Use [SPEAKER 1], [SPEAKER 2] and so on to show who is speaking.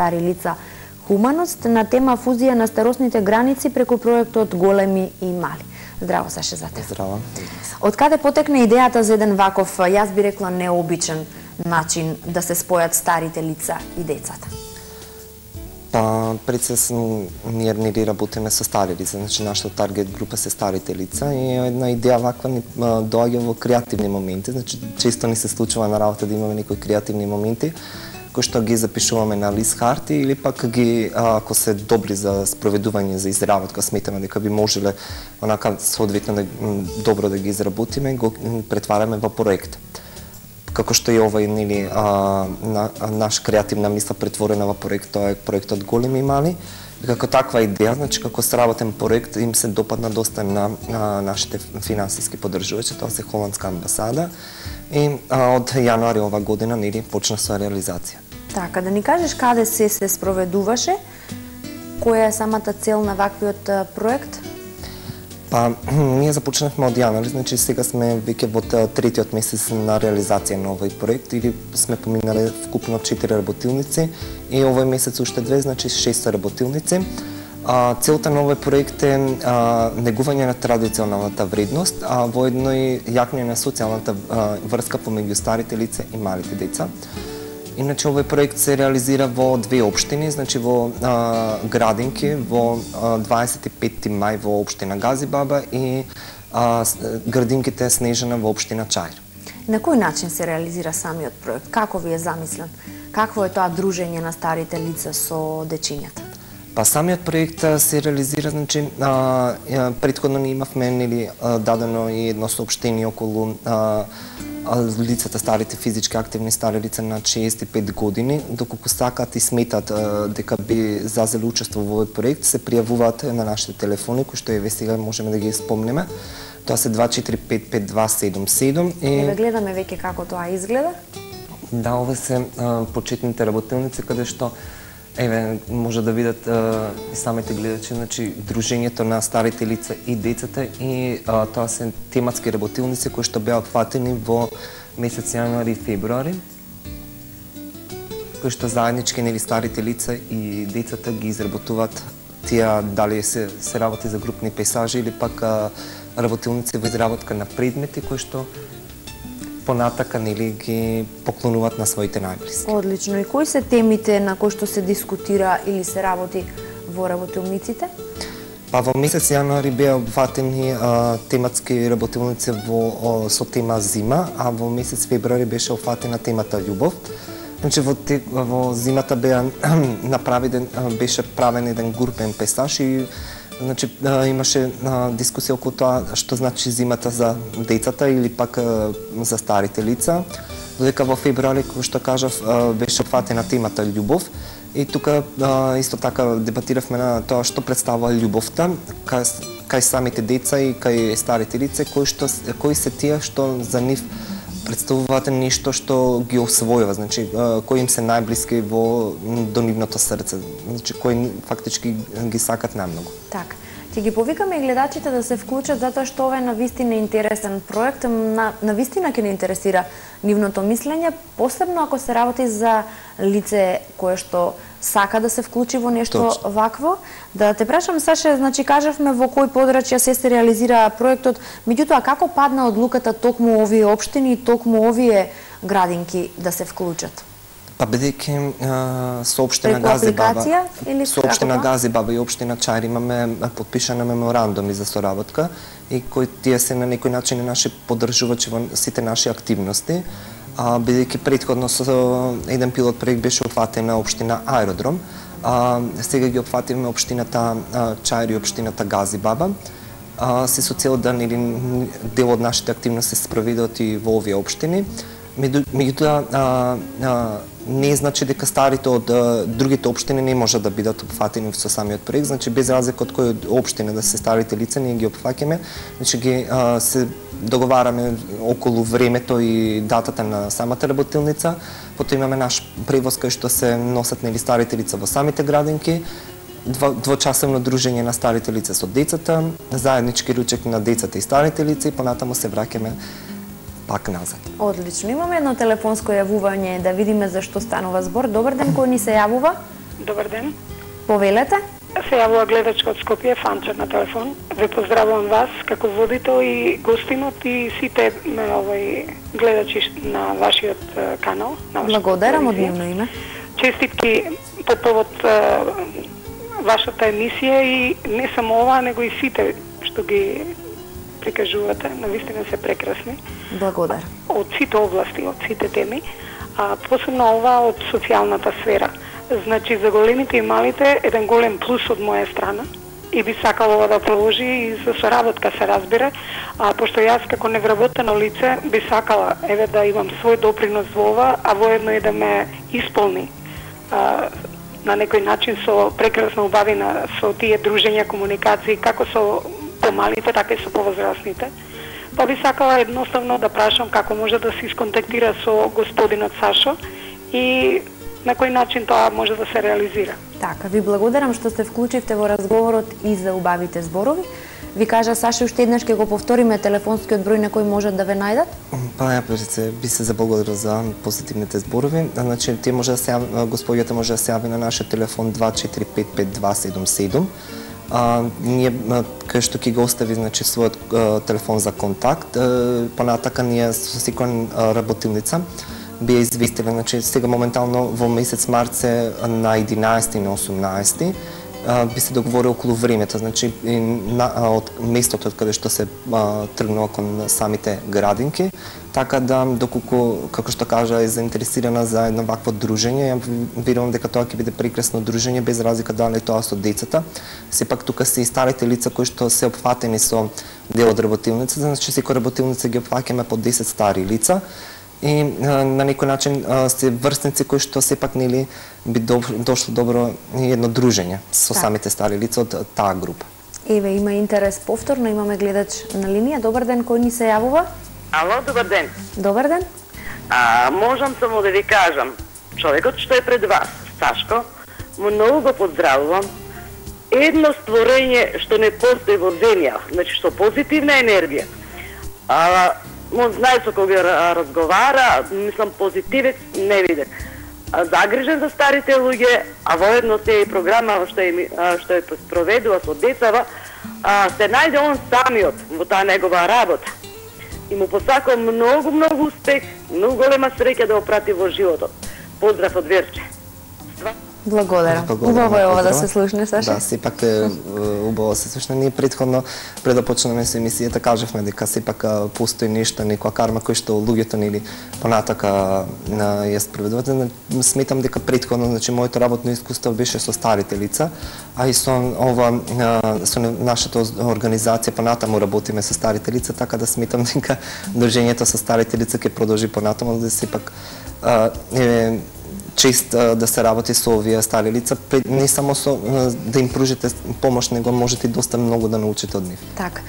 [SPEAKER 1] стари лица Хуманост на тема фузија на старосните граници преку проектот Големи и мали. Здраво, Саше, за тебе.
[SPEAKER 2] Здраво.
[SPEAKER 1] Од каде потекне идејата за еден ваков, јас би рекла, необичен начин да се спојат старите лица и децата?
[SPEAKER 2] Па, пред се ние не работиме со стари лица, значи нашата таргет група се старите лица и една идеја ваква ни доаѓа во креативни моменти, значи често ни се случува на работа да имаме некои креативни моменти кои што ги запишуваме на лист харти или пак ги, ако се добри за спроведување, за изработка, сметаме дека би можеле онака соодветно добро да ги изработиме, го претвараме во проект. Како што е овај, нели, наш креативна мисла претворена во проект, тоа е проектот Големи и мали. И како таква идеја, значи како сработен проект, им се допадна доста на нашите финансиски поддржувачи, тоа се Холандска амбасада. И од јануари ова година, нели, почна со реализација.
[SPEAKER 1] Така, да ни кажеш каде се спроведуваше, која е самата цел на ваквиот проект?
[SPEAKER 2] Па, ние започнавме од јануари, значи сега сме веќе во третиот месец на реализација на овој проект, или сме поминале вкупно 4 работилници и овој месец уште 2, значи 6 работилници. Целта на овој проект е негување на традиционалната вредност, а воедно и јакнење на социјалната врска помеѓу старите лица и малите деца. Иначе овој проект се реализира во 2 општини, значи во Градинки, во 25 мај во општина Газибаба и Градинките Снежана во општина Чаир.
[SPEAKER 1] На кој начин се реализира самиот проект? Како ви е замислен? Какво е тоа дружење на старите лица со дечињата?
[SPEAKER 2] Па самиот проект се реализира, значи претходно ние имавме, нели, дадено и едно соопштение околу лицата, старите физички активни стари лица на 65 години, доколку сакат и сметат дека би зазели учество во овој проект, се пријавуваат на нашите телефони, кои што еве сега можеме да ги спомнеме. Тоа се 2455277 и
[SPEAKER 1] Еве гледаме веќе како тоа изгледа.
[SPEAKER 2] Да, ова се почетните работилници каде што еве може да видат и самите гледачи, значи дружењето на старите лица и децата и тоа се тематски работилници кои што беа опфатени во месец јануари и февруари, кои што заеднички, нели, старите лица и децата ги изработуваат тие, дали се работи за групни пейсажи или пак работилници во изработка на предмети кои што понатака, нели, ги поклонуваат на своите најблиски.
[SPEAKER 1] Одлично. И кои се темите на кои што се дискутира или се работи во работилниците?
[SPEAKER 2] Па во месец јануари беа опфатени тематски работилници со тема зима, а во месец февруари беше опфатена темата љубов. Значи во зимата беше правен еден групен песаж и значи имаше дискусија околу тоа што значи зимата за децата или пак за старите лица. Додека во февруари, како што кажав, беше опфатена темата љубов. И тука исто така дебатиравме на тоа што представува љубовта кај самите деца и кај старите лица, кои се тие што за нив представуваат нешто што ги освојува, значи кои им се најблиски до нивното срце, значи кои фактички ги сакат најмногу.
[SPEAKER 1] Така. Ќе ги повикаме и гледачите да се вклучат затоа што ова е навистина интересен проект, навистина ќе не интересира нивното мислење, посебно ако се работи за лице кое што сака да се вклучи во нешто вакво. Да те прашам, Саше, значи кажавме во кои подрачја се реализира проектот, меѓутоа како падна одлуката токму овие општини и токму овие градинки да се вклучат?
[SPEAKER 2] Па бидејќи со општина Газибаба и општина Чаир имаме потпишани меморандуми за соработка и кои тие се на некој начин наши поддржувачи во сите наши активности, бидејќи претходно со еден пилот проект беше опфатена општина Аеродром, сега ги опфативме општината Чаир и општината Газибаба, се со цел да дел од нашите активности се спроведат и во овие општини. Меѓутоа, не значи дека старите од другите општини не може да бидат опфатени со самиот проект, значи без разлика од кој општина да се старите лица, ние ги опфаќаме, значи ги се договараме околу времето и датата на самата работилница, потоа имаме наш превоз кај што се носат, нели, старите лица во самите градинки, двочасовно дружење на старите лица со децата, заеднички ручек на децата и старите лица и понатаму се враќаме пак назад.
[SPEAKER 1] Одлично. Имаме едно телефонско јавување да видиме за што станува збор. Добар ден, кој ни се јавува?
[SPEAKER 3] Добар ден.
[SPEAKER 1] Повелете.
[SPEAKER 3] Се јавува гледачка од Скопје, Фанчер на телефон. Ве поздравувам вас како водител и гостинот и сите гледачи на вашиот канал.
[SPEAKER 1] Благодарам од нивно име.
[SPEAKER 3] Честитки по повод вашата емисија и не само ова, него и сите што ги прикажувате, навистина се прекрасни.
[SPEAKER 1] Благодарам.
[SPEAKER 3] Од сите области, од сите теми, а посебно ова од социјалната сфера. Значи, за големите и малите, еден голем плюс од моја страна и би сакала ова да продолжи и за соработка се разбира, а пошто јас како невработено лице би сакала да имам свој допринос во ова, а воедно и да ме исполни на некој начин со прекрасно убавина со тие дружења, комуникации, како со помалите, така и со повозрастните. Па би сакала едноставно да прашам како може да се исконтактира со господинот Сашо и на кој начин тоа може да се реализира.
[SPEAKER 1] Така, ви благодарам што се вклучивте во разговорот и за убавите зборови. Ви кажа Сашо, уште еднаш ќе го повториме телефонскиот број на кој можат да ве најдат?
[SPEAKER 2] Па ја би се заблагодарил за позитивните зборови. Значи, тие може да се господјата може да се јави на нашиот телефон 24552277. Ние кај што ќе го остави значи својот телефон за контакт, понатака ние со секоја работилница би ја известиле, значи сега моментално во месец март се на 11 и на 18 би се договори околу времето, значи од местото од каде што се тргнува кон самите градинки, така да доколку како што кажа е заинтересирана за едно вакво дружење, ја верувам дека тоа ќе биде прекрасно дружење без разлика дали тоа со децата. Сепак тука се и старите лица кои што се опфатени со дел од работилница, значи секоја работилница ги опфаќаме по 10 стари лица. И на некој начин се врсници кои што сепак нели би дошло добро едно дружење со самите стари лица од таа група.
[SPEAKER 1] Еве, има интерес повторно, имаме гледач на линија. Добар ден, кој ни се јавува?
[SPEAKER 4] Ало, добар ден.
[SPEAKER 1] Добар ден.
[SPEAKER 4] Можам само да ви кажам, човекот што е пред вас, Сашко, многу го поздравувам. Едно створење што не постои во земја, значи што позитивна енергија. Знае со кога разговара, мислам позитивец не виде. Загрижен за старите луѓе, а воедно се и програма што е проведува со децава, се најде он самиот во таа негова работа. И му посакувам многу успех, многу голема среќа да опрати во животот. Поздрав од Верче.
[SPEAKER 1] Благодарам. Убаво е ова да се слушне, Саша.
[SPEAKER 2] Да, сепак е убаво се слушне. Ние претходно, пред да почнеме со емисијата, кажавме дека сепак постои нешто, некоја карма кој што луѓето нели понатака ја спроведуваат. Сметам дека претходно, значи моето работно искуство беше со старите лица, а и со ова со нашата организација понатаму работиме со старите лица, така да сметам дека дружењето со старите лица ќе продолжи понатаму, да сепак чест да се работи со овие стари лица, не само со да им пружите помош, него можете доста многу да научите од нив.
[SPEAKER 1] Така.